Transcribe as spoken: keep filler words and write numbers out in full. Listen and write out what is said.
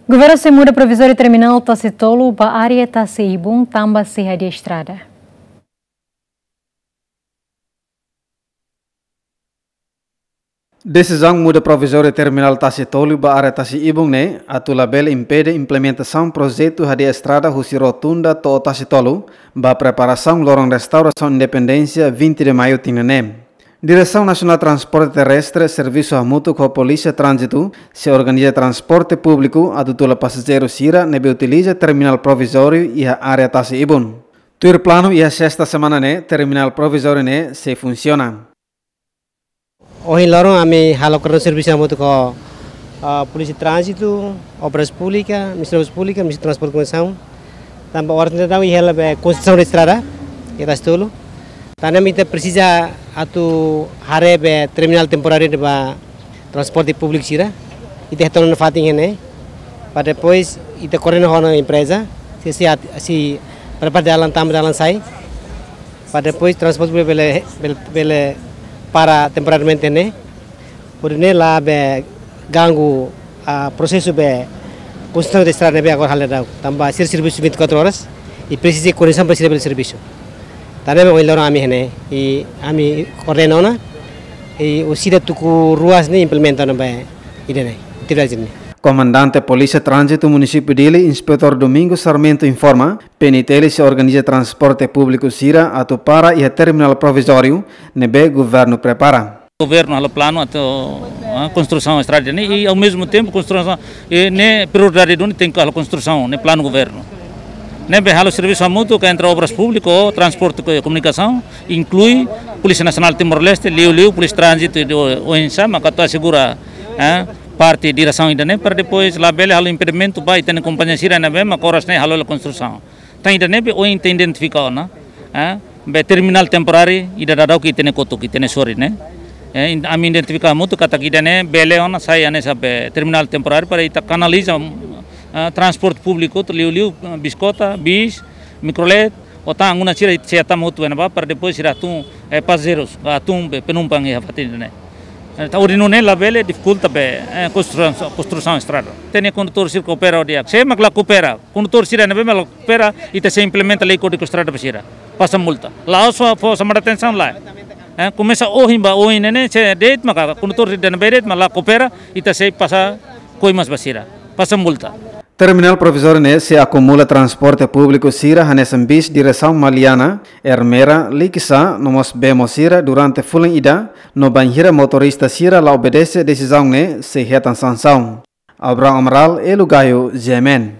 Governu sei muda provizóriu terminál Tasi Tolu ba área Tasi Ibun tanba sei hadi'a estrada. Desizaun muda provizóriu terminál Tasi Tolu ba área Tasi Ibun ne'e atu labele impede implementasaun projetu hadi'a estrada husi Rotunda to'o Tasi Tolu, ba preparasaun loron restaurasaun independénsia vinte de Maio tinan ne'e. Diresaun Nasionál Transporte Terrestre servisu hamutuk ho Polísia Tránzitu sei organiza transporte públiku atu tula pasajeiru sira ne'ebé utiliza terminál provizóriu iha área Tasi Ibun. Tuir planu, iha sesta semana ne'e terminál provizóriu ne'e sei funsiona. Ohin loron ami halo koordenasaun servisu hamutuk ho, ah, Polísia Tránzitu, Obras Públikas, Ministériu Obras Públikas, Ministériu Transporte Komunikasaun. Tanba oras ne'e daudaun iha hela be konstrusaun de estrada, iha Tasi Tolu. Tan ne'e mak ita presiza atu haree be terminál temporáriu ne'e ba transporte públiku sira. Ita hetan ona fatin iha ne'e. Para depois ita koordena ho empreza. Se, se, at-, se prepara dalan, tama dalan sai. Para depois transporte bele, bele, bele para temporariamente ne'e. Hodi nune'e la be ganggu, ah, prosesu be konstrusaun de estrada ne'ebé agora halo daudaun. Tanba sira servisu vinte e quatro horas. I presiza koordenasaun para sira bele servisu. Tan ne'e mak ohin loron ami iha ne'e. I ami koordena ona. I orsida tuku ruas ne'e implementa ona be ida-ne'e, atividade ne'e. Komandante Polísia Tránzitu Munisípiu Dili, Inspetór Domingos Sarmento informa, P N T L sei organiza transporte públiku sira atu para iha terminál provizóriu ne'ebé governu prepara. Governu halo planu atu, ah, konstrusaun estrada ne'e, i ao mesmo tempo konstrusaun, i ne'e prioridade duni tenke halo konstrusaun, ne'e planu governu. Ne'ebé halo servisu hamutuk entre Obras Públikas, Transporte e Komunikasaun, inklui Polísia Nasionál Timor-Leste, liuliu Polísia Tránzitu i do oinsa, maka atu asegura, eh, parte diresaun ida-ne'e, para depois labele halo impedimentu ba ita-nia kompañia sira ne'ebé maka oras ne'e halo hela konstrusaun. Tan ida-ne'e be ohin ita identifika ona, eh, be terminál temporáriu ida daudaun ke ita-nia kotuk, ita-nia sorin ne'e. Eh, in-, ami identifika hamutuk katak ida-ne'e bele ona sai hanesan be terminál temporáriu para ita kanaliza, eh, transporte públiku, liuliu, eh, biskota, bis, mikrolet, otan anguna sira sei tama hotu iha ne'ebá para depois sira tun, eh, pasajeirus, ah, tun be penumpang iha fatin ne'e. Eh, ta hodi nune'e labele difikulta be, eh, konstrusaun, konstrusaun estrada. Ita-nia kondutór sira koopera di'ak. Se mak la koopera, kondutór sira ne'ebé mak la koopera, ita sei implementa lei Kódigu Estrada ba sira. Pasa multa. La'ós fó, fó xamada atensaun lae. Eh, komesa ohin ba ohin ne'e ne'e, se de'it maka kondutór sira ne'ebé de'it mak la koopera, ita sei pasa koimas ba sira. Pasa multa. Terminál provizóriu ne'e sei akumula transporte públiku sira hanesan bis diresaun Maliana, Ermera, Likisá, no mós Bemo sira durante fulan ida, no bainhira motorista sira la obedese desizaun ne'e sei hetan sansaun. Abraham Amaral, Elu Gayo, G M N.